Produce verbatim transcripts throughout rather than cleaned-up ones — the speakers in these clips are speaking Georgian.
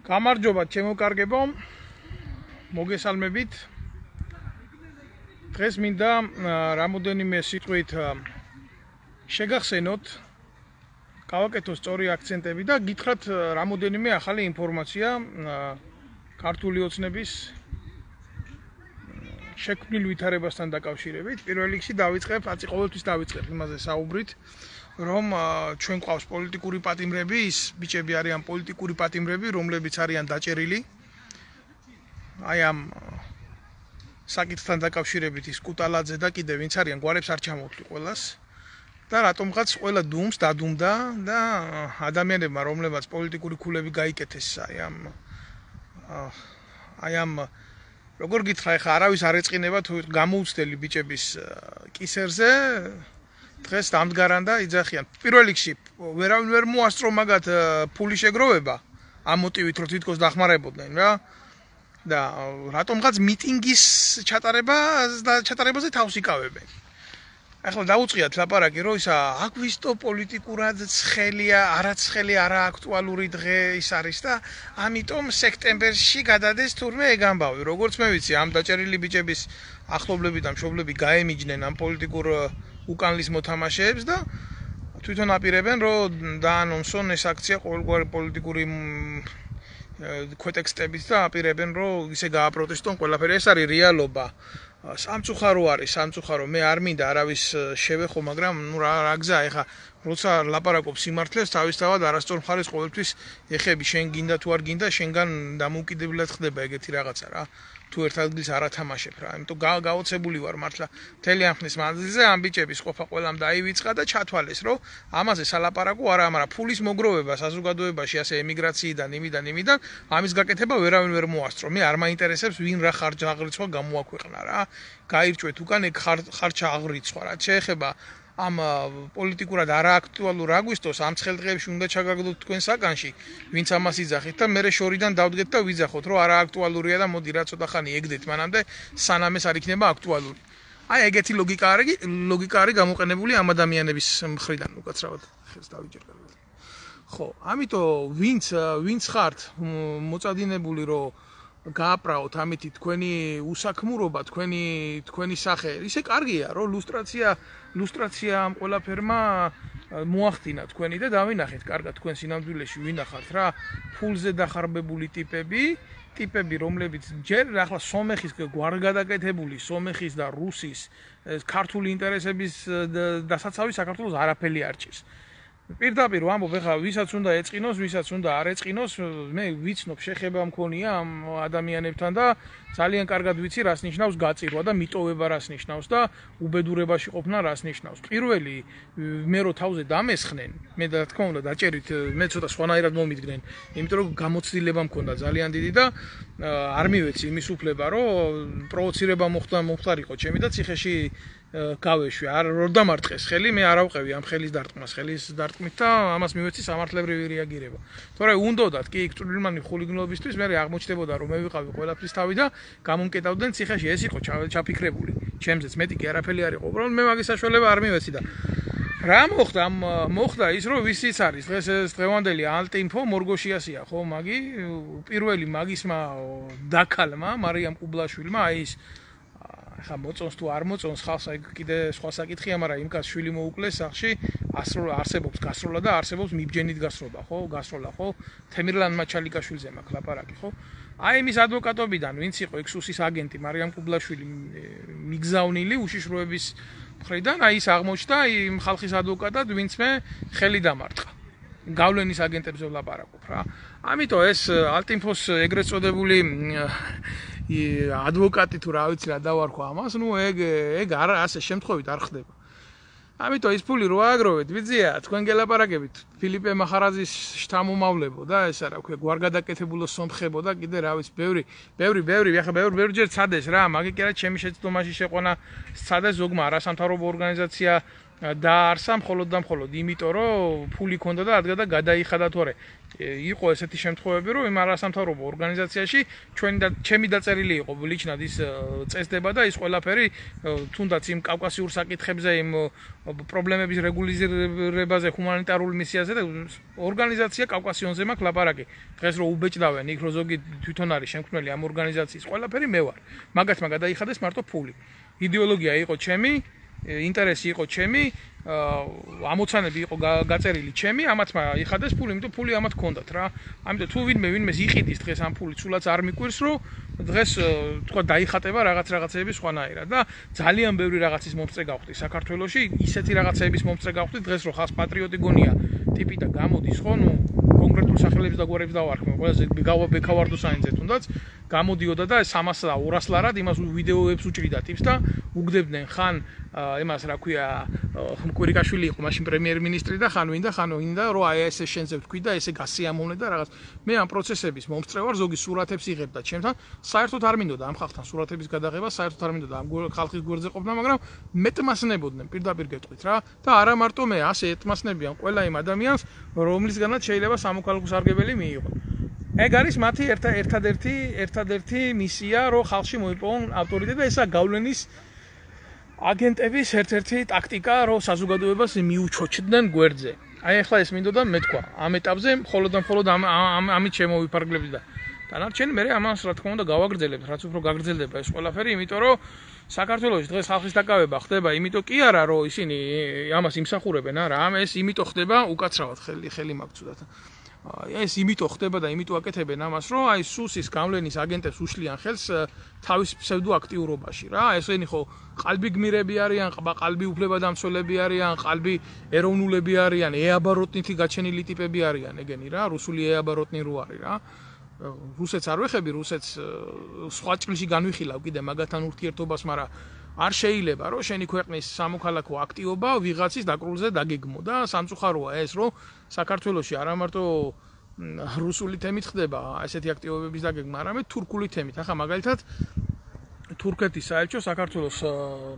გამარჯობა ჩემო კარგებო, მოგესალმებით. დღეს მინდა რამოდენიმე სიტყვით შეგახსენოთ, გავაკეთოთ სწორი აქცენტები და გითხრათ რამოდენიმე ახალი ინფორმაცია ქართული ოცნების შექმნილ ვითარებასთან დაკავშირებით. პირველ რიგში დავიწყებ, აცი ყოველთვის დავიწყებ იმაზე საუბრით, რომ ჩვენ ყავს პოლიტიკური პატიმრები, ის ბიჭები არიან პოლიტიკური პატიმრები, რომლებიც არიან დაჭერილი. აი ამ საკითხთან დაკავშირებით ის კუტალაძე და კიდე ვინც არიან, გვარებს არ ჩამოვთვლი ყველას. და რატომღაც ყველა დუმს დადუმდა და ადამიანებმა, რომლებაც პოლიტიკური ქულები გაიკეთეს, აი ამ აი ამ როგორ გითხრა, ეხა არავის არ ეწყინება თუ გამოუცდელი ბიჭების კისერზე დღეს დამდგარან და იძახიან. პირველ რიგში ვერავინ ვერ მოასწრო მაგათ ფული შეგროვება ამ მოტივით, რომ თვითონ დახმარებოდნენ რა. და რატომღაც მიტინგის ჩატარება და ჩატარებაზე თავს იკავებენ. ახლა დაუწყიათ ლაპარაკი, რომ ისა აგვისტო პოლიტიკურად ცხელია, არაცხელი, არააქტუალური დღე ის არის და ამიტომ სექტემბერში გადადეს თურმე ეგ ამბავი. როგორც მე ვიცი, ამ დაჭერილი ბიჭების ახლობლები და მშობლები გაემიჯნენ ამ პოლიტიკურ უკანლის მოთამაშეებს და თვითონ აპირებენ, რომ დაანონსონ ეს აქცია ყოველგვარი პოლიტიკური ქვეტექსტებით და აპირებენ, რომ ისე გააპროტესტონ ყველაფერი. ეს არის რეალობა. სამწუხარო არის, სამწუხარო. მე არ მინდა არავის შევეხო, მაგრამ ნუ რა გზაა, ეხა როცა ლაპარაკობ სიმართლეს, თავისთავად არასწორ მხარეს ყოველთვის ეხები, შენ გინდა თუ არ გინდა, შენგან დამოუკიდებლად ხდება ეგეთი რაღაცა რა. თუ ერთ ადგილს არ ათამაშებ რა. იმიტომ გაოცებული ვარ მართლა მთელი ამ ხნის მანძილზე ამ ბიჭების ყოფა ყველამ დაივიწყა და ჩათვალეს, რომ ამაზე სალაპარაკო არა, მაგრამ ფულის მოგროვება საზოგადოებაში, ასე ემიგრაციიდან, იმიდან, იმიდან, ამის გაკეთება ვერავინ ვერ მოასწრო. მე არ მაინტერესებს ვინ რა ხარჯ აღრიცხვა გამოაქვეყნა რა. გაირჩვეთ უკან ეგ ხარჯა აღრიცხვა რა. შეეხება ამ პოლიტიკურად არააქტუალურ აგვისტოს ამ ცხელდღეებში უნდა ჩაგაგდოთ თქვენ საკანში, ვინც ამას იძახით და მე შორიდან დავდგეთ და ვიძახოთ, რომ არააქტუალურია და მოდი რა ცოტა ხანი ეგდეთ მანამდე სანამ ეს არ იქნება აქტუალური. აი ეგეთი ლოგიკა არის, ლოგიკა არის გამოყენებული ამ ადამიანების მხრიდან უკაცრავად ხელს დავიჯერ კარგად. ხო, ამიტომ ვინც ვინც ხართ მოწადინებული, რომ გააპრაოთ ამითი თქვენი უსაქმურობა, თქვენი თქვენი სახე. ისე კარგია, რომ ლუსტრაცია ლუსტრაცია ამ ყველაფერმა მოახდინა თქვენი და დავინახეთ კარგად თქვენ სინამდვილეში ვინახავთ რა, ფულზე დახარბებული ტიპები, ტიპები, რომლებიც ჯერ ახლა სომეხის გვარგადაკეთებული, სომეხის და რუსის ქართული ინტერესების დასაცავი საქართველოს არაფერი არ ჭირს. პირდაპირ ვამბობ, ეხლა ვისაც უნდა ეწყინოს, ვისაც უნდა არ ეწყინოს, მე ვიცნობ, შეხება მქონია ამ ადამიანებთან და ძალიან კარგად ვიცი, რას ნიშნავს გაწირვა და მიტოვება რას ნიშნავს და უბედურებაში ყოფნა რას ნიშნავს. პირველი მე რო თავზე დამესხნენ, მე და თქმა უნდა დაჭერით, მე ცოტა სხვანაირად მომიდგნენ, იმიტომ რომ გამოცდილება მქონდა ძალიან დიდი და არ მივეცი იმის უფლება, რომ პროვოცირება მოხდა მომხდარიყო ჩემი და ციხეში გავეშვი. არ რო დამარტყეს ხელი, მე არ ავყევი ამ ხელის დარტყმას, ხელის დარტყმით და ამას მივეცი სამართლებრივი რეაგირება. თორე უნდოდათ კი ჭრილმანი ხულიგნობისთვის მე აღმოჩნდებოდა, რომ მე ვიყავი ყველაფრის თავი და გამომკეტავდნენ ციხეში. ეს იყო ჩაფიქრებული. ჩემზეც მეტი კი არაფერი არ იყო. უბრალოდ მე მაგის საშუალება არ მივეცი და რა მოხდა? მოხდა ის, რომ ვისიც არის დღეს ეს დღევანდელი ალტინფო მორგოშიასია, ხო, მაგი პირველი მაგისმა დაქალმა მარიამ ყუბლაშვილმა, აი ის ხა მოწონს თუ არ მოწონს ხალხს, აი კიდე სხვა საკითხია, მაგრამ იმ კაცს შვილი მოუკლეს სახში, არსებობს გასროლა და არსებობს მიბჯენით გასროლა, ხო, გასროლა, ხო, თემირლან მაჩალიკაშვილზე მაქვს ლაპარაკი, ხო. აი იმის ადვოკატობიდან, ვინც იყო ექსუსის აგენტი მარიამ ყუბლაშვილი მიგზავნილი უშიშროების მხრიდან, აი ის აღმოჩნდა იმ ხალხის ადვოკატად, ვინც მე ხელი დამარტყა. გავლენის აგენტებზე ვლაპარაკობ რა. ამიტომ ეს ალტინფოს ეგრეთ წოდებული ადვოკატი თუ რა ვიცი რა დავარქვა ამას, ნუ ეგ ეგ არ ასე შემთხვევით არ ხდება. ამიტომ ის ფული რო ააგროვეთ, ვიძია, თქვენ გელაპარაკებით ფილიპე მახარაძის შთამომავლებო და ეს რა ვქვია, გვარგადაკეთებულო სომხებო და კიდე რა ვიცი, ბევრი, ბევრი, ბევრი, ახლა ბევრი, ბევრჯერ ცადეს რა, მაგე კი არა ჩემი შეცდომაში შეყვანა ცადეს ზოგმა არასამთავრობო ორგანიზაცია დაარსა მხოლოდ და მხოლოდ იმიტომ, რომ ფული ქონდა და ადგა და გადაიხადა თორე. იყო ესეთი შემთხვევები, რომ იმ არასამთავრობო ორგანიზაციაში ჩვენი და ჩემი დაწერილი იყო ლიჩნად ის წესდება და ის ყველაფერი თუნდაც იმ კავკასიურ საკითხებზე, იმ პრობლემების რეგულირებაზე, ჰუმანიტარულ მისიაზე და ორგანიზაცია კავკასიონზე მაქვს ლაპარაკი. დღეს რო უბეჭდავენ იქ რო ზოგი თვითონ არის შემქმნელი ამ ორგანიზაციის ყველაფერი მე ვარ. მაგათმა გადაიხადეს მარტო ფული. იდეოლოგია იყო ჩემი, ინტერესი იყო ჩემი, ამოცანები იყო გაწერილი ჩემი, ამათმა იხადეს ფული, იმიტომ ფული ამათ ჰქონდათ რა. ამიტომ თუ ვინმე ვინმეს იყიდის დღეს ამ ფული, სულაც არ მიკვირს, რომ დღეს თქვა დაიხატება რაღაც რაღაცეების სხვანაირად და ძალიან ბევრი რაღაცის მომწე გავხდი საქართველოში, ისეთი რაღაცეების მომწე გავხდი დღეს რომ ხალხს პატრიოტი გონია ტიპი და გამოდის ხო, ნუ კონკრეტულ სახელებს და გვარებს დავარქმევ, ყველაზე ბექავარდო საინზე თუნდაც გამოდიოდა და სამას და ორას ლარად იმას ვიდეოებს უჭრიდა ტიპს და უგდებდნენ ხან იმას რა ქვია კვირიკაშვილი იყო მაშინ პრემიერ-მინისტრი და ხან ვინდა ხან ვინდა რომ აი ესე შენზე ვთქვი და ესე გასიამოვნე და რაღაც მე ამ პროცესების მომსწრე ვარ ზოგი სურათებს იღებდა ჩემთან საერთოდ არ მინდოდა ამ ხალხთან სურათების გადაღება საერთოდ არ მინდოდა ამ ხალხის გვერდზე ყოფნა მაგრამ მეტმასნებოდნენ პირდაპირ გეტყვით რა და არა მარტო მე ასე ეთმასნებიან ყველა იმ ადამიანს რომლისგანაც შეიძლება სამოქალაქო სარგებელი მიიღო ეგ არის მათი ერთადერთი ერთადერთი მისია რომ ხალხში მოიპოვონ ავტორიტეტი და ესა გავლენის აგენტების ერთ-ერთი ტაქტიკა რომ საზოგადოებას მიუჩოჩდნენ გვერდზე. აი ახლა ეს მინდოდა მეთქვა. ამ ეტაპზე მხოლოდ და მხოლოდ ამ ამით შემოვიფარგლებდი და დანარჩენი მე ამას რა თქმა უნდა გავაგრძელებთ, რაც უფრო გაგრძელდება ეს ყველაფერი, იმიტომ რომ საქართველოში დღეს ხალხის დაკავება ხდება, იმიტომ კი არა რომ ისინი ამას იმსახურებენ არა, ამ ეს იმიტომ ხდება უკაცრავად ხელი ხელი მაგცუდათ. ეს იმიტომ ხდება და იმიტომ აკეთებენ ამას, რომ აი სუსის გავლენის აგენტებს უშლიან ხელს თავის ფსევდოაქტიურობაში რა. ესენი ხო ყალბი გმირები არიან, ყალბი უფლებადამცველები არიან, ყალბი ეროვნულები არიან, ეაბაროტნითი გაჩენილი ტიპები არიან ეგენი რა, რუსული ეაბაროტნი რო არის რა. რუსეთს არ ვეხები, რუსეთს სხვა ჭრილში განვიხილავ კიდე მაგათთან ურთიერთობას, მაგრამ არ შეიძლება რომ შენი ქვეყნის სამოქალაქო აქტივობა ვიღაცის დაკრულზე დაგეგმო და სამწუხაროა ეს რომ საქართველოში არა მარტო რუსული თემით ხდება ესეთი აქტივობების დაგეგმა, არამედ თურქული თემით. ახლა მაგალითად თურქეთის საელჩო საქართველოს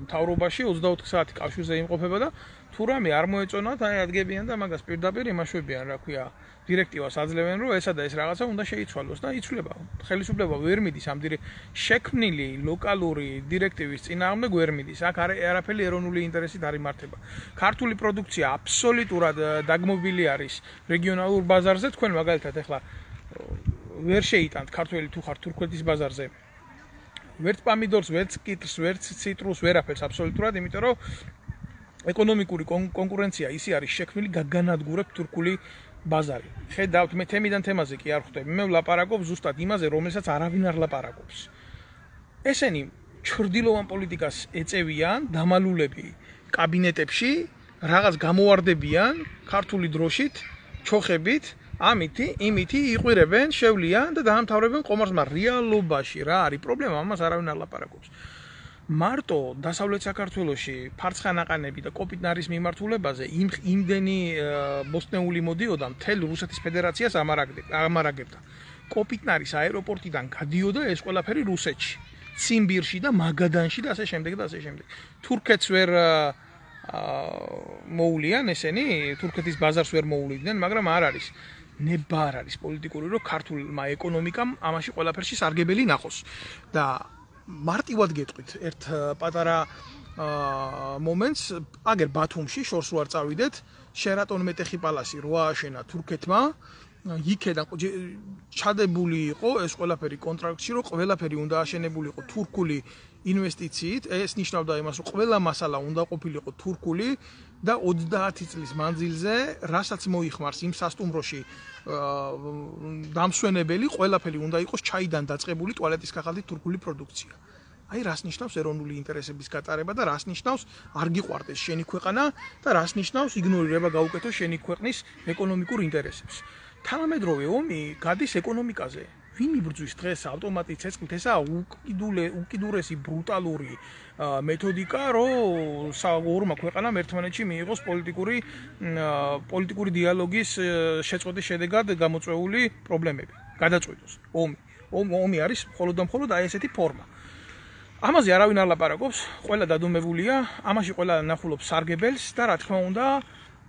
მთავრობაში ოცდაოთხ საათი კავშირზე იმყოფება და თუ რამე არ მოეწონათ, აი ადგებიან და მაგას პირდაპირ იმაშვებიან, რა ქვია, დირექტივას აძლევენ, რომ ესა და ეს რაღაცა უნდა შეიცვალოს და იცვლება. ხელისუფლება ვერ მიდის ამ შექმნილი ლოკალური დირექტივის წინააღმდეგ ვერ მიდის. აქ არაფერი ეროვნული ინტერესით არ იმართება. ქართული პროდუქცია აბსოლუტურად დაგმობილი არის რეგიონალურ ბაზარზე, თქვენ მაგალითად ახლა ვერ შეიტანთ ქართველი თუ ხარ თურქეთის ბაზარზე. ვერც პამიდორს, ვერც კიტრს, ვერც ციტრუსს, ვერაფერს აბსოლუტურად, იმიტომ რომ ეკონომიკური კონკურენცია ისე არის შექმნილი გაგანადგურებ თურქული ბაზარი. ხედავთ მე თემიდან თემაზე კი არ ხვდები. მე ვლაპარაკობ ზუსტად იმაზე, რომელსაც არავინ არ ლაპარაკობს. ესენი ჩრდილოვან პოლიტიკას ეწევიან, დამალულები კაბინეტებში, რაღაც გამოვარდებიან ქართული დროშით, ჩოხებით, ამითი, იმითი იყვირებენ, შევლიან და დაამთავრებენ ყომარს, მაგრამ რეალობაში რა არის პრობლემა, ამას არავინ არ ლაპარაკობს. მარტო დასავლეთ საქართველოში ფარცხანაყანები და კოპიტნარის მიმართულებაზე იმდენი ბოსტნეული მოდიოდა მთელ რუსეთის ფედერაციას ამარაგებდა. კოპიტნარის აეროპორტიდან გადიოდა ეს ყველაფერი რუსეთში, ციმბირში და მაგადანში და ასე შემდეგ და ასე შემდეგ. თურქეთს ვერ მოულიან ესენი, თურქეთის ბაზარს ვერ მოულიდნენ, მაგრამ არ არის ნება არ არის პოლიტიკური, რომ ქართულმა ეკონომიკამ ამაში ყველაფერში სარგებელი ნახოს და მარტივად გეტყვით ერთ პატარა მომენტს, აგერ ბათუმში შორს ვარ წავიდეთ, შერატონ მეტეხი პალასი რო ააშენა თურქეთმა, იქედან ჩადებული იყო ეს ყველაფერი კონტრაქტში, რომ ყველაფერი უნდა აშენებული იყო თურქული ინვესტიციით, ეს ნიშნავდა იმას, რომ ყველა მასალა უნდა ყოფილიყო თურქული და ოცდაათი წლის მანძილზე, რასაც მოიხმარს იმ სასტუმროში დამსვენებელი, ყველაფერი უნდა იყოს ჩაიდან დაწყებული ტუალეტის ქაღალდით თურქული პროდუქცია. აი რას ნიშნავს ეროვნული ინტერესების გატარება და რას ნიშნავს არ გიყვარდეს შენი ქვეყანა და რას ნიშნავს იგნორირება გაუკეთოს შენი ქვეყნის ეკონომიკურ ინტერესებს. თანამედროვე ომი გადის ეკონომიკაზე. ვინ იბრძვის დღეს ავტომატით ცეცხლით, ესაა უკიდურესი ბრუტალური მეთოდიკა, რომ ორმა ქვეყანამ ერთმანეთში მიიღოს პოლიტიკური პოლიტიკური დიალოგის შეწყვეტის შედეგად გამოწვეული პრობლემები. გადაწყვიტოს ომი. ომი არის მხოლოდ და მხოლოდ აი ესეთი ფორმა. ამაზე არავინ არ ლაპარაკობს, ყველა დადუმებულია, ამაში ყველა ნახულობს სარგებელს და რა თქმა უნდა,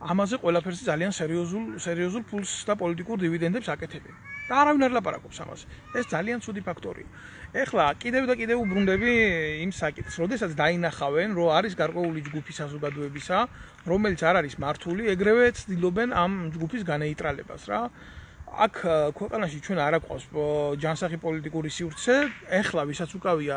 ამაზე ყველაფერზე ძალიან სერიოზულ სერიოზულ ფულს და პოლიტიკურ დივიდენდებს აკეთებენ. და არავინ არ ლაპარაკობს ამაზე. ეს ძალიან ცუდი ფაქტორია. ეხლა კიდევ და კიდევ უბრუნდები იმ საკითხს, როდესაც დაინახავენ, რომ არის გარკვეული ჯგუფი საზოგადოებისა, რომელიც არ არის მართული, ეგრევე ცდილობენ ამ ჯგუფის განეიტრალებას რა. აქ ქვეყანაში ჩვენ არ აყვავს ჯანსაღი პოლიტიკური სივრცე, ეხლა ვისაც უკავია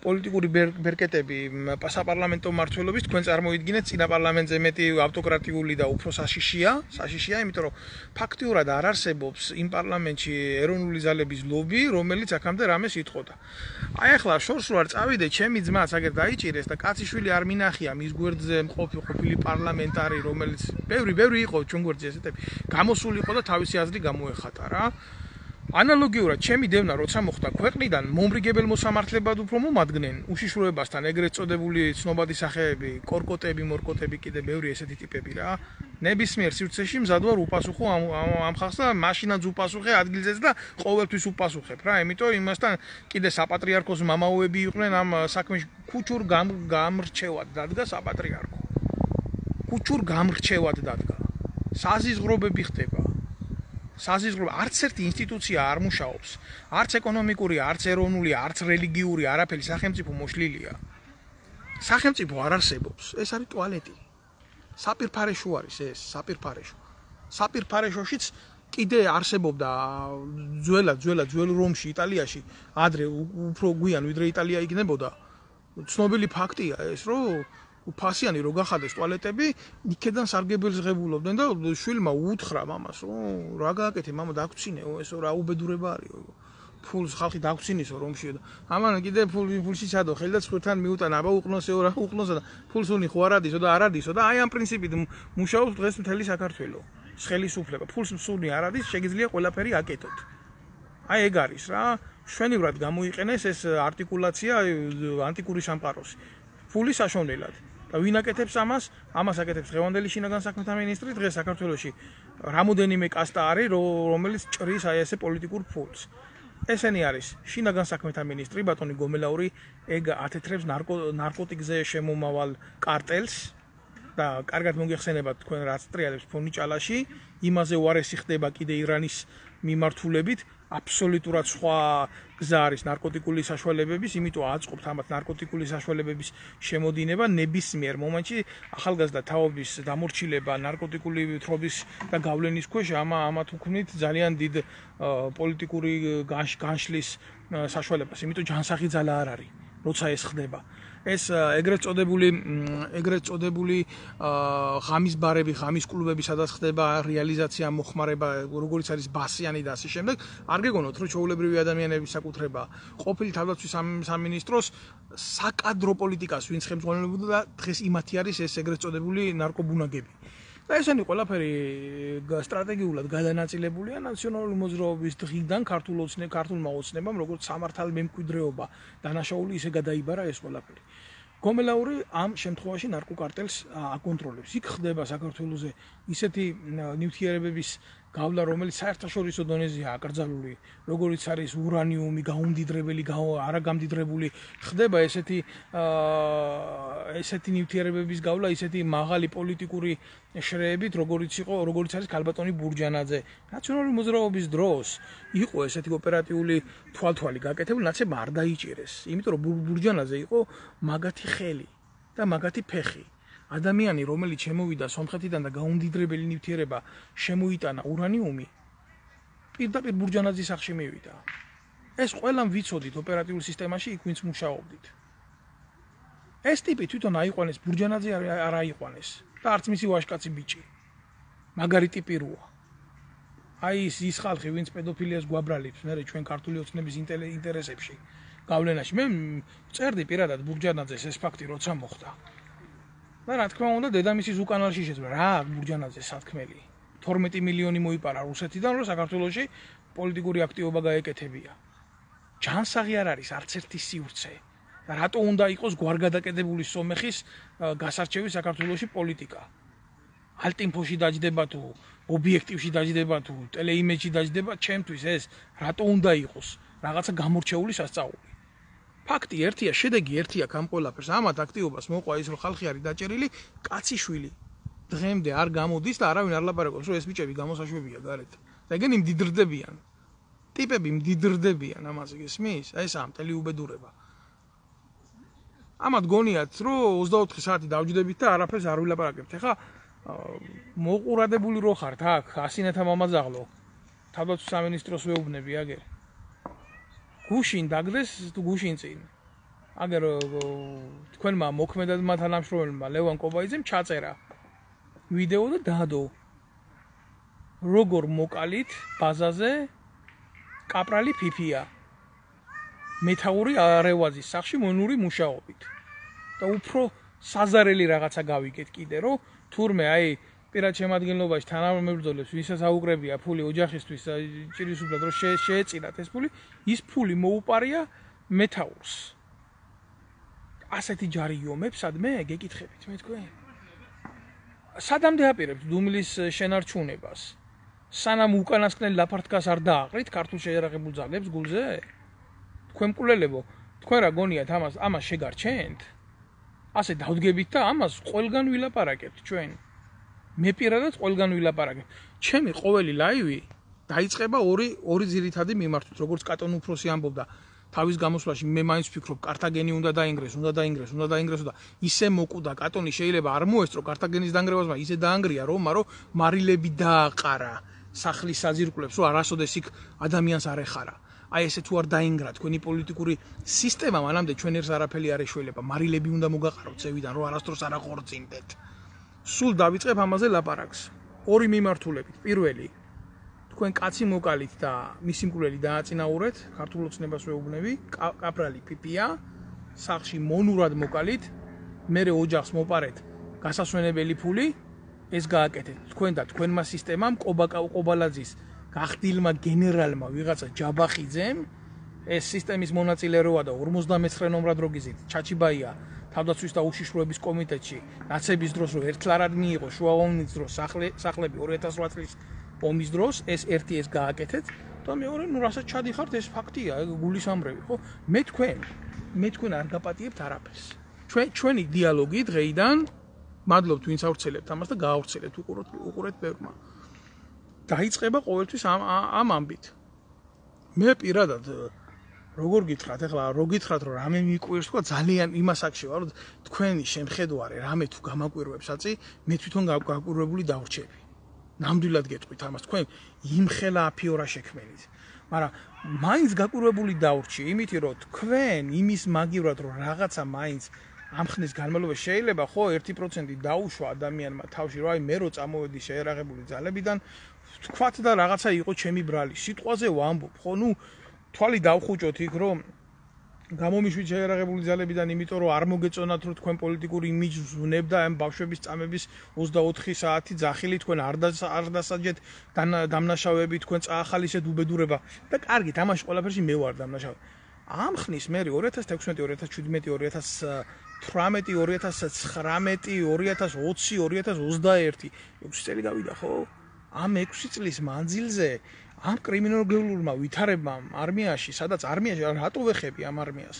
პოლიტიკური ბერკეტები საპარლამენტო მმართველობის, თქვენ წარმოიდგინეთ წინა პარლამენტზე მეტი ავტოკრატიული და უფრო საშიშია, საშიშია, იმიტომ რომ ფაქტიურად არ არსებობს იმ პარლამენტში ეროვნული ძალების ლობი, რომელიც აქამდე რამეს იტყოდა. აი ახლა შორს ვარ წავიდე, ჩემი ძმაც აგერ დაიჭირეს და კაციშვილი არ მინახია მის გვერდზე მყოფი ყოფილი პარლამენტარი, რომელიც ბევრი ბევრი იყო ჩვენ გვერდზე ესეთები, გამოსული იყო და თავისი აზრი გამოეხატა რა. ანალოგიურად ჩემი დევნა როცა მოხდა ქვეყნიდან მომრიგებელ მოსამართლებად უფრო მომადგნენ უშიშროებასთან ეგრეთ წოდებული ცნობადი სახეები, კორკოტები, მორკოტები, კიდე ბევრი ესეთი ტიპები რა. ნებისმიერ სივრცეში მზად ვარ უპასუხო ამ ამ ხალხს და მაშინაც უპასუხე ადგილზეც და ყოველთვის უპასუხებ რა. იმიტომ იმასთან კიდე საპატრიარქოს მამაოები იყვნენ ამ საქმეში ქუჩურ გამრჩევად დადგა საპატრიარქო. ქუჩურ გამრჩევად დადგა. საზიზღრობები ხდება. საზიზღრობ არც ერთი ინსტიტუცია არ მუშაობს, არც ეკონომიკური, არც ეროვნული, არც რელიგიური, არაფერი სახელმწიფო მოშლილია. სახელმწიფო არ არსებობს, ეს არის ტუალეტი. საპირფარეშო არის ეს, საპირფარეშო. საპირფარეშოშიც კიდე არსებობდა ძველად, ძველად, ძველ რომში, იტალიაში, ადრე უფრო გვიან ვიდრე იტალია იქნებოდა. ცნობილი ფაქტია ეს, რომ ფასიანი რო გახადეს ტუალეტები, იქედან სარგებელს ღებულობდნენ და შვილმა უთხრა მამას, რომ რა გააკეთე, მამა დაგწინეო, ესო რა უბედურება არისო. ფულს ხალხი დაგწინისო რომშიო და ამან კიდე ფული ფულში ჩადო, ხელი და ცხვირთან მიუტანა, აბა უყნოსეო რა უყნოსა და ფულს უნი ხო არადისო და არადისო და აი ამ პრინციპით მუშაობს დღეს მთელი საქართველო. ხელისუფლება, ფულს მსუნი არადის, შეგიძლია ყველაფერი აკეთოთ. აი ეგ არის რა, შვენივრად გამოიყენეს ეს არტიკულაცია ანტიკური სამყაროსი. ფული საშონელად. და ვინ აკეთებს ამას? ამას აკეთებს დღევანდელი შინაგან საქმეთა მინისტრი, დღეს საქართველოში რამოდენიმე კასტა არის, რომელიც ჭრის აი ესე პოლიტიკურ ფულს. ესენი არის შინაგან საქმეთა მინისტრი ბატონი გომელაური, ეგ ათეთრებს ნარკოტიკზე შემომავალ კარტელს და კარგად მოგეხსენებათ თქვენ რაც ტრიალებს ფონიჭალაში, იმაზე უარესი ხდება კიდე ირანის მიმართულებით, აბსოლუტურად სხვა გზა არის ნარკოტიკული საშუალებების, იმიტომ აწყობთ ამათ ნარკოტიკული საშუალებების შემოდინება ნებისმიერ მომენტში ახალგაზრდა თაობის დამორჩილება ნარკოტიკული თრობის და გავლენის ქვეშ ამა ამათ უქმნით ძალიან დიდ პოლიტიკური განშლის საშუალებას, იმიტომ ჯანსაღი ძალა არ არის, როცა ეს ხდება. ეს ეგრეთ წოდებული ეგრეთ წოდებული ღამის ბარები, ღამის კლუბები, სადაც ხდება რეალიზაცია, მოხმარება, როგორც არის ბასიანი და ასე შემდეგ, არ გეგონოთ, რომ ჩვეულებრივი ადამიანების საკუთრება ყოფილი თავდაცვის სამინისტროს საკადრო პოლიტიკას ვინც ხელმძღვანელობდა და დღეს იმათი არის ეს ეგრეთ წოდებული ნარკობუნაგები. და ესენი ყველაფერი სტრატეგიულად გადანაწილებულია ნაციონალური მოძრაობის დღიდან ქართულ ოცნე, ქართულმა ოცნებამ, როგორც სამართალ მემკვიდრეობა დანაშაული ისე გადაიბარა ეს ყველაფერი. გომელაური ამ შემთხვევაში ნარკოკარტელს აკონტროლებს. იქ ხდება საქართველოზე ისეთი ნივთიერებების გავლა, რომელიც საერთაშორისო დონეზეა აკრძალული, როგორც არის ურანიუმი, გაუმდიდრებელი, არაგამდიდრებული, ხდება ესეთი ესეთი ნივთიერებების გავლა, ისეთი მაღალი პოლიტიკური შრეებით, როგორც იყო, როგორც არის ქალბატონი ბურჯანაძე. ნაციონალური მოძრაობის დროს იყო ესეთი ოპერატიული თვალთვალი გაკეთებული, ნაცებ არ დაიჭირეს, იმიტომ რომ ბურჯანაძე იყო მაგათი ხელი და მაგათი ფეხი. ადამიანი, რომელიც შემოვიდა სომხეთიდან და გაუმდიდრებელი ნივთიერება შემოიტანა ურანიუმი, პირდაპირ ბურჯანაძის სახლში მივიდა. ეს ყველამ ვიცოდით ოპერატიულ სისტემაში, იქ ვინც მუშაობდით. ეს ტიპი თვითონ აიყვანეს, ბურჯანაძე არ აიყვანეს და არც მისი ვაჟკაცი ბიჭი. მაგარი ტიპი როა. აი ის ის ხალხი, ვინც პედოფილიას გვაბრალებს, მე ჩვენ ქართული ოცნების ინტერესებში გავლენაში. მე წერდი პირადად ბურჯანაძეს ეს ფაქტი როცა მოხდა. და რა თქმა უნდა დედამისის უკანალში შეძმა რა ბურჯანაძე სათქმელი თორმეტი მილიონი მოიპარა რუსეთიდან რომ საქართველოში პოლიტიკური აქტივობა გაეკეთებია. ჯანსაღი არ არის არც ერთი სივრცე და რატო უნდა იყოს გვარგადაკეთებული სომეხის გასარჩევი საქართველოში პოლიტიკა. ალტინფოში დაждდება თუ ობიექტივში დაждდება თუ ტელეიმეჯში დაждდება, ჩემთვის ეს რატო უნდა იყოს რაღაცა გამორჩეული სასწაული. ფაქტი ერთია, შედეგი ერთია ამ ყველაფერს. ამათ აქტივობას მოყვა ის, რომ ხალხი არის დაჭერილი, კაციშვილი დღემდე არ გამოდის და არავინ არ ლაპარაკობს, რომ ეს ბიჭები გამოსაშვებია გარეთ. და ეგენი მდიდრდებიან. ტიპები მდიდრდებიან ამაზე გესმის? აი ეს ამ მთელი უბედურება. ამათ გონიათ, რომ ოცდაოთხი საათი დავჯდებით და არაფერს არ ვილაპარაკებთ. ეხლა მოყურადებული რო ხართ აქ, ასინათა მამაძაღლო. თავდაცვის სამინისტროს ვეუბნები აგერ. გუშინ დაგდეს თუ გუშინ წინ. აგერ თქვენმა მოქმედადმა თანამშრომელმა ლევან კობაიძემ ჩაწერა ვიდეო და დადო. როგორ მოკალით ბაზაზე კაპრალი ფიფია. მეთაური არევაზის სახში მონური მუშაობით. და უფრო საზარელი რაღაცა გავიგეთ კიდე, რომ თურმე აი პირად შემადგენლობაში თანამებრძოლებს ვისაც აუკრებია ფული ოჯახისთვის ჭირისუფლად რომ შეეწირათ ეს ფული, ის ფული მოუპარია მეთაურს. ასეთი ჯარი იომებს სადმე გეკითხებით მე თქვენ? სადამდე აპირებთ დუმილის შენარჩუნებას? სანამ უკანასკნელი ლაფარტკას არ დააყრით ქართულ შეიარაღებულ ძალებს გულზე? თქვენ მკვლელებო, თქვენ რა გონიათ ამას ამას შეგარჩენთ? ასე დავდგებით და ამას ყველგან ვილაპარაკებთ ჩვენ. მე პირადად ყველგან ვილაპარაკებ. ჩემი ყოველი ლაივი დაიწყება ორი ორი ძირითადი მიმართვით, როგორც კატონ უფროსი ამბობდა თავის გამოსვლაში, მე მაინც ვფიქრობ, კართაგენი უნდა დაინგრეს, უნდა დაინგრეს, უნდა დაინგრესო და ისე მოკვდა კატონი შეიძლება არ მოესწრო კართაგენის დაანგრევასმა, ისე დაანგრია რომმა, რომ მარილები დააყარა სახლის საძირკვლებს, რომ არასოდეს იქ ადამიანს არ ეხარა. აი ესე თუ არ დაინგრა თქვენი პოლიტიკური სისტემა, მანამდე ჩვენ ერთს არაფერი არ ეშველება, მარილები უნდა მოგაყაროთ ზევიდან, რომ არასდროს არ აღორძინდეთ. სულ დავიწყებ ამაზე ლაპარაკს. ორი მიმართულებით. პირველი, თქვენ კაცი მოკალით და მისი მკვლელი დააწინაურეთ, ქართულ ოცნებას ვეუბნები, კაპრალი ფიფია, სახში მონურად მოკალით, მერე ოჯახს მოპარეთ გასასვენებელი ფული, ეს გააკეთეთ. თქვენ და თქვენმა სისტემამ ყობალაძის გახდილმა გენერალმა ვიღაცა ჯაბახიძემ ეს სისტემის მონაწილე როა და ორმოცდამეცხრე ნომრად როგიზით ჩაჩიბაია თავდაცვის და უშიშროების კომიტეტში ნაცების დროს რომ ერთლარად მიიღო შუა ომის დროს სახლები ორი ათას ოთხ წლის ომის დროს ეს ერთი ეს გააკეთეთ და მეორე ნუ რასაც ჩადიხართ ეს ფაქტია გულის ამრევი ხო მე თქვენ მე თქვენ არ გაპატიებთ არაფერს ჩვენ ჩვენი დიალოგი დღეიდან მადლობთ ვინც ავრცელებთ ამას და გაავრცელეთ უყუროთ უყურეთ ბევრმა დაიწყება ყოველთვის ამ ამ ამბით მე პირადად როგორ გითხრათ ახლა რო გითხრათ რომ რამე მიყვირს თქვა ძალიან იმას აქ შევა რომ თქვენი შემხედვარე რამე თუ გამაკვირვებს აწი მე თვითონ გაკვირვებული დავრჩები ნამდვილად გეტყვით ამას თქვენ იმხელა აფიორა შექმენით მაგრამ მაინც გაკვირვებული დავრჩი იმითი რომ თქვენ იმის მაგივრად რომ რაღაცა მაინც ამ ხნის განმავლობაში შეიძლება ხო ერთი პროცენტი დაუშვა ადამიანმა თავში რომ აი მე რო წამოვედი შეერაღებული ძალებიდან თქვათ და რაღაცა იყო ჩემი ბრალი სიტყვაზე ვამბობ ხო ნუ თვალი დავხუჭოთ იქ რომ გამომიშვით შეერაღებული ძალებიდან იმიტომ რომ არ მოგეწონათ რომ თქვენ პოლიტიკური იმიჯს ვვნებდა ამ ბავშვების წამების ოცდაოთხი საათი ძახილი თქვენ არ არ დასაჯეთ დამნაშავეები თქვენ წაახალისეთ უბედურება და კარგით ამაში ყველაფერში მე ვარ დამნაშავე ამ ხნის მე ორი ათას თექვსმეტი ორი ათას შვიდმეტი ორი ათას თვრამეტი ორი ათას ცხრამეტი ორი ათას ოცი ორი ათას ოცდაერთი ექვსი წელი გავიდა ხო ამ ექვსი წლის მანძილზე ამ კრიმინოლოგიურმა ვითარებმა არმიაში, სადაც არმიაში რატო ვეხები ამ არმიას?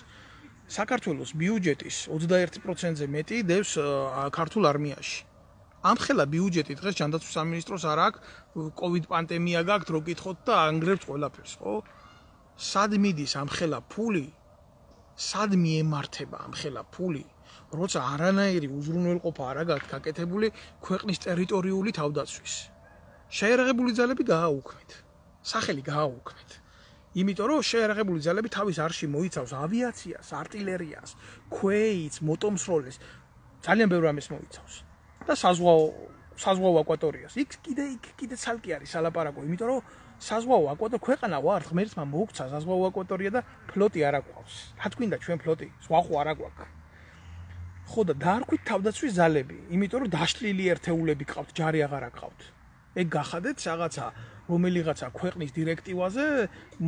საქართველოს ბიუჯეტის ოცდაერთი პროცენტზე მეტი დევს ქართულ არმიაში. ამ ხელა ბიუჯეტი დღეს ჯანდაცვის სამინისტროს არ აქვს, კოვიდ პანდემია გაქვთ, რო გითხოთ და ანგრევთ ყველაფერს, ხო? სად მიდის ამ ხელა ფული? სად მიემართება ამ ხელა ფული? როცა არანაირი უზრუნველყოფა არ აქვს გაკეთებული ქვეყნის ტერიტორიული თავდაცვის. შეერაღებული ძალები გააუქმეთ. სახელი გააუქმეთ. იმიტომ რომ შეერაღებული ძალები თავის არში მოიცავს ავიაციას, артиლერიას, ქვეითს, მოტომსროლეს, ძალიან ბევრ ამას მოიცავს. და საზღვაო საზღვაო აკვატორიას. იქ კიდე იქ კიდე ცალკე არის სალაპარაკო, იმიტომ რომ საზღვაო აკვატორია ქვეყანა ვარ, ღმერთმა მოუქცა საზღვაო აკვატორია და ფლოტი არ აკვავს. რა თქვინდა ჩვენ ფლოტი? სხვა ხო არ აკვაქვს. ხო და დაარქვით თავდაცვის ძალები, იმიტომ რომ დაშლილი ერთეულები ყავთ, ჯარი აღარ აყავთ. ეგ გახადეთ რაღაცა რომელიღაცა ქვეყნის დირექტივაზე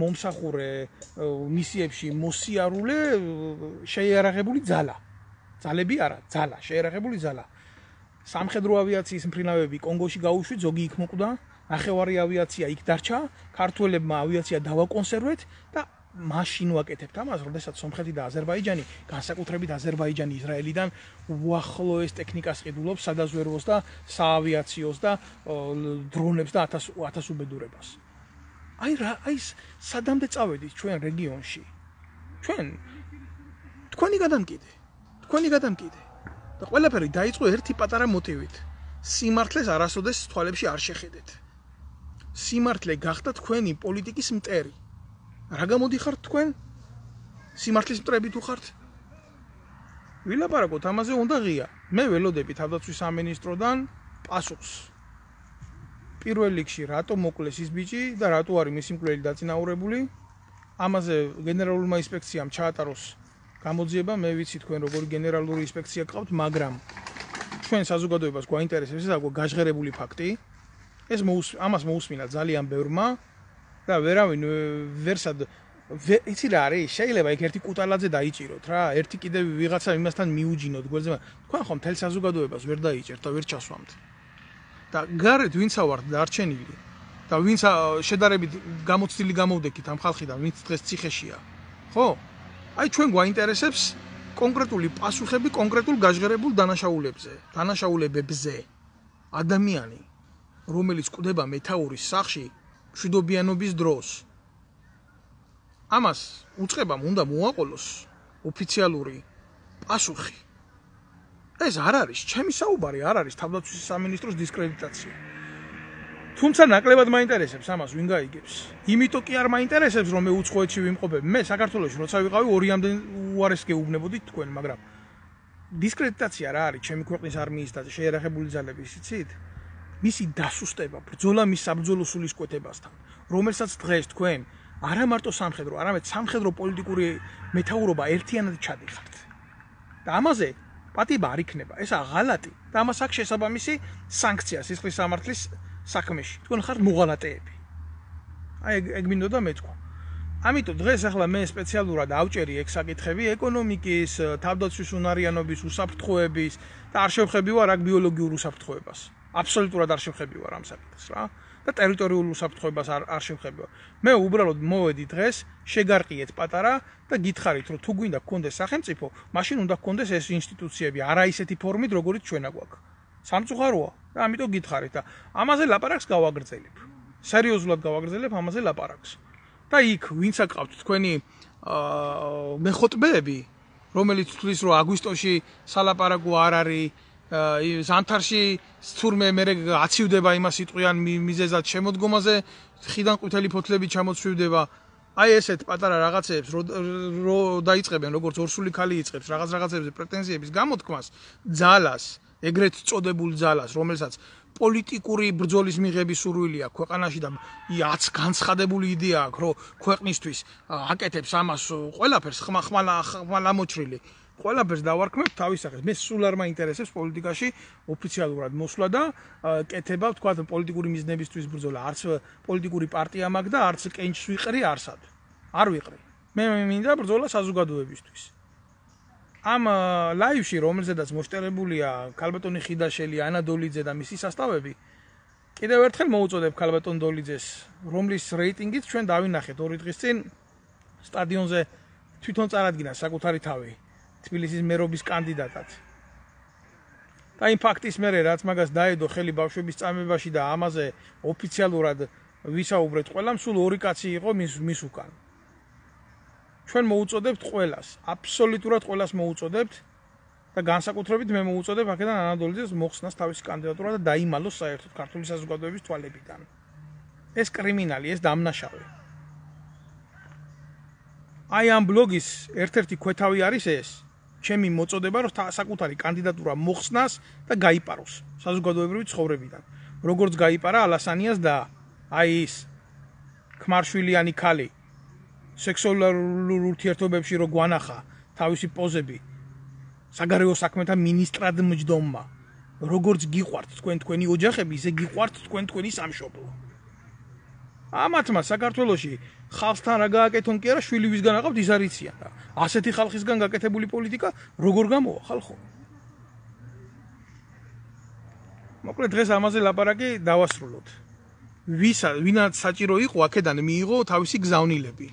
მომსახურე მისიებში მოსიარულე შეიარაღებული ძალა. ძალები არა, ძალა, შეიარაღებული ძალა. სამხედრო ავიაციის მფრინავები კონგოში გაუშვით, ზოგი იქ მოკვდა, ნახევარი ავიაცია იქ დარჩა, ქართველებმა ავიაცია დავაკონსერვეთ და მაშინ ვაკეთებთ ამას, როდესაც სომხეთი და აზერბაიჯანი, განსაკუთრებით აზერბაიჯანი ისრაელიდან უახლოეს ტექნიკას ყიდულობს სადაზვერვოს და საავიაციოს და დრონებს და ათას უბედურებას. აი რა, აი სადამდე წავედით ჩვენ რეგიონში. ჩვენ თქვენი გადამკიდე, თქვენი გადამკიდე. და ყველაფერი დაიწყო ერთი პატარა მოტივით. სიმართლეს არასოდეს თვალებში არ შეხედეთ. სიმართლე გახდა თქვენი პოლიტიკის მტერი. რა გამოდიხართ თქვენ? სიმართლის მტრები თუ ხართ? ვილაპარაკოთ ამაზე უნდა ღია. მე ველოდები თავდაცვის სამინისტროდან პასუხს. პირველ რიგში რატო მოკლეს ის ბიჭი და რატო არის მისი მკვლელი დაწინაურებული? ამაზე გენერალურმა ინსპექციამ ჩაატაროს გამოძიება, მე ვიცი თქვენ როგორი გენერალური ინსპექცია გყავთ, მაგრამ ჩვენ საზოგადოებას გვაინტერესებს ეს გაჟღერებული ფაქტი. ეს ამას მოусმინა ძალიან ბევრმა და ვერავინ ვერსად იცი რა არის, შეიძლება იქ ერთი კუტალაძე დაიჭიროთ რა, ერთი კიდე ვიღაცა იმასთან მიუჯინოთ გვერდზე, თქვენ ხომ მთელ საზოგადოებას ვერ დაიჭერთ და ვერ ჩასვამთ. და გარეთ ვინცა ვართ დარჩენილი და ვინც შედარებით გამოცდილი გამოვდექით ამ ხალხიდან, ვინც დღეს ციხეშია. ხო? აი ჩვენ გვაინტერესებს კონკრეტული პასუხები კონკრეტულ გაჟღერებულ დანაშაულებებზე, დანაშაულებებზე. ადამიანი, რომელიც კვდება მეთაურის სახში მშვიდობიანობის დროს. ამას უწყებამ უნდა მოაყოლოს ოფიციალური პასუხი. ეს არ არის, ჩემი საუბარი არ არის თავდაცვის სამინისტროს დისკრედიტაცია. თუმცა ნაკლებად მაინტერესებს ამას ვინ გაიგებს. იმიტომ კი არ მაინტერესებს რომ მე უცხოეთში ვიმყოფებ. მე საქართველოში როცა ვიყავი ორიამდე უარეს გეუბნებოდით თქვენ, მაგრამ დისკრედიტაცია რა არის ჩემი ქვეყნის არმიის და შეერახებული ძალების, იცით? მისი დასუსტება, ბრძოლა მის საბრძოლო სულისკვეთებასთან, რომელსაც დღეს თქვენ არა მარტო სამხედრო, არამედ სამხედრო პოლიტიკური მეთაურობა ერთიანად ჩადიხართ. და ამაზე პატიება არ იქნება, ესა ღალატი და ამას აქვს შესაბამისი სანქცია სისხლის სამართლის საქმეში. თქვენ ხართ მოღალატეები. აი ეგ მინდოდა მეთქვა. ამიტომ დღეს ახლა მე სპეციალურად ავჭერი ეგ საკითხები ეკონომიკის, თავდაცვის უნარიანობის, უსაფრთხოების და არ შევხები ვარ აქ ბიოლოგიურ უსაფრთხოებას. აბსოლუტურად არ შევხები ვარ ამ საკითხს რა. და ტერიტორიულ უსაფრთხოებას არ არ შევხები ვარ. მე უბრალოდ მოვედი დღეს, შეგარყიეთ პატარა და გითხარით რომ თუ გვინდა გქონდეს სახელმწიფო, მაშინ უნდა გქონდეს ეს ინსტიტუციები, არა ისეთი ფორმით, როგორიც ჩვენა გვაქვს. სამწუხაროა და ამიტომ გითხარით და ამაზე ლაპარაკს გავაგრძელებ. სერიოზულად გავაგრძელებ ამაზე ლაპარაკს. და იქ ვინც აკავთ თქვენი აა მეხოტბეები, რომელიც თვლის რომ აგვისტოში სალაპარაკო არ არის, ზამთარში თურმე მე აცივდება იმას იტყვიან მიზეზად შემოდგომაზე, ხიდან ყვითელი ფოთლები ჩამოცვივდება. აი ესეთ პატარა რაღაცებს რო დაიწყებენ, როგორც ორსული ქალი იწყებს რაღაც რაღაცებზე პრეტენზიების გამოთქმას, ძალას, ეგრეთ წოდებულ ძალას, რომელსაც პოლიტიკური ბრძოლის მიღების სურვილი აქვს ქვეყანაში და აც განცხადებული იდეა აქვს, რომ ქვეყნისთვის აკეთებს ამას ყველაფერს ხმახმალა ხმალა მოჭრილი. ყველაფერს დავარქმევ თავის სახეს. მე სულ არ მაინტერესებს პოლიტიკაში ოფიციალურად მოსვლა და კეთება, თქვა პოლიტიკური მიზნებისთვის ბრძოლა. არც პოლიტიკური პარტია მაქვს და არც კენჭს ვიყრი არსად. არ ვიყრი. მე მინდა ბრძოლა საზოგადოებისთვის. ამ ლაივში, რომელზედაც მოშტერებულია ქალბატონი ხიდაშელი, ანა დოლიძე და მისი სასწავები, კიდევ ერთხელ მოუწოდებ ქალბატონ დოლიძეს, რომლის რეიტინგით ჩვენ დავინახეთ ორი დღის წინ სტადიონზე თვითონ წარადგინა საკუთარი თავი. თბილისის მერობის კანდიდატად. და იმ ფაქტის მერე რაც მაგას დაედო ხელი ბავშვების წამებაში და ამაზე ოფიციალურად ვისაუბრეთ ყველამ, სულ ორი კაცი იყო მის მის უკან. ჩვენ მოუწოდებთ ყველას, აბსოლუტურად ყველას მოუწოდებთ და განსაკუთრებით მე მოუწოდებ აქედან ანა დოლიძეს მოხსნას თავისი კანდიდატურა და დაიმალოს საერთოდ ქართული საზოგადოების თვალებიდან. ეს კრიმინალი, ეს დამნაშავე. აი ამ ბლოგის ერთ-ერთი ქვეთავი არის ეს. ჩემი მოწოდება რომ საკუთარი კანდიდატურა მოხსნას და გაიპაროს საზოგადოებრივი ცხოვრებიდან. როგორც გაიპარა ალასანიას და აი ის ქმარშვილიანი ქალი სექსუალურ ურთიერთობებში რო გვანახა თავისი პოზები საგარეო საქმეთა მინისტრად მჯდომმა. როგორც გიყვართ თქვენ თქვენი ოჯახები, ისე გიყვართ თქვენ თქვენი სამშობლო. ამათმა საქართველოში ხალხთან რა გააკეთონ კი არა, შვილი ვისგან აყავთ ის არ იციან და ასეთი ხალხისგან გაკეთებული პოლიტიკა როგორ გამოვა ხალხო? მოკლედ დღეს ამაზე ლაპარაკი დავასრულოთ. ვისა ვინაც საჭირო იყო აქედან მიიღო თავისი გზავნილები.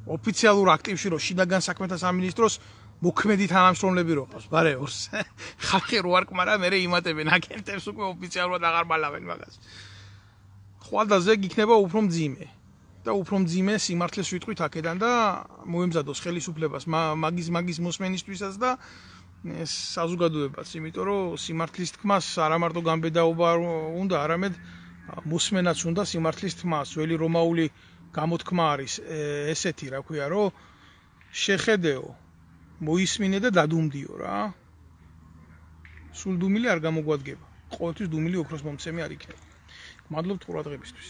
ოფიციალურ აქტივში რო შინაგან საქმეთა სამინისტროს მოქმედი თანამშრომლები რო ყავს, ბარეორს. ხალხი რო არ კმარა, მე იმატებენ აგენტებს უკვე ოფიციალურად აღარ ბალავენ მაგას. ხვალდაზე იქნება უფრო მძიმე. და უფრო მძიმე სიმართლეს ვიტყვით აქედან და მოემზადოს ხელისუფლებას მაგის მაგის მოსმენისთვისაც და საზოგადოებას, იმიტომ რომ სიმართლის თქმას არა მარტო გამბედაობა უნდა, არამედ მოსმენაც უნდა სიმართლის თქმას. ძველი რომაული გამოთქმა არის ესეთი, რა ქვია, რომ შეხედეო, მოისმინე და დადუმდიო რა. სულ დუმილი არ გამოგვადგება. ყოველთვის დუმილი ოქროს მომცემი არ იქნება. მადლობთ ყურადღებისთვის.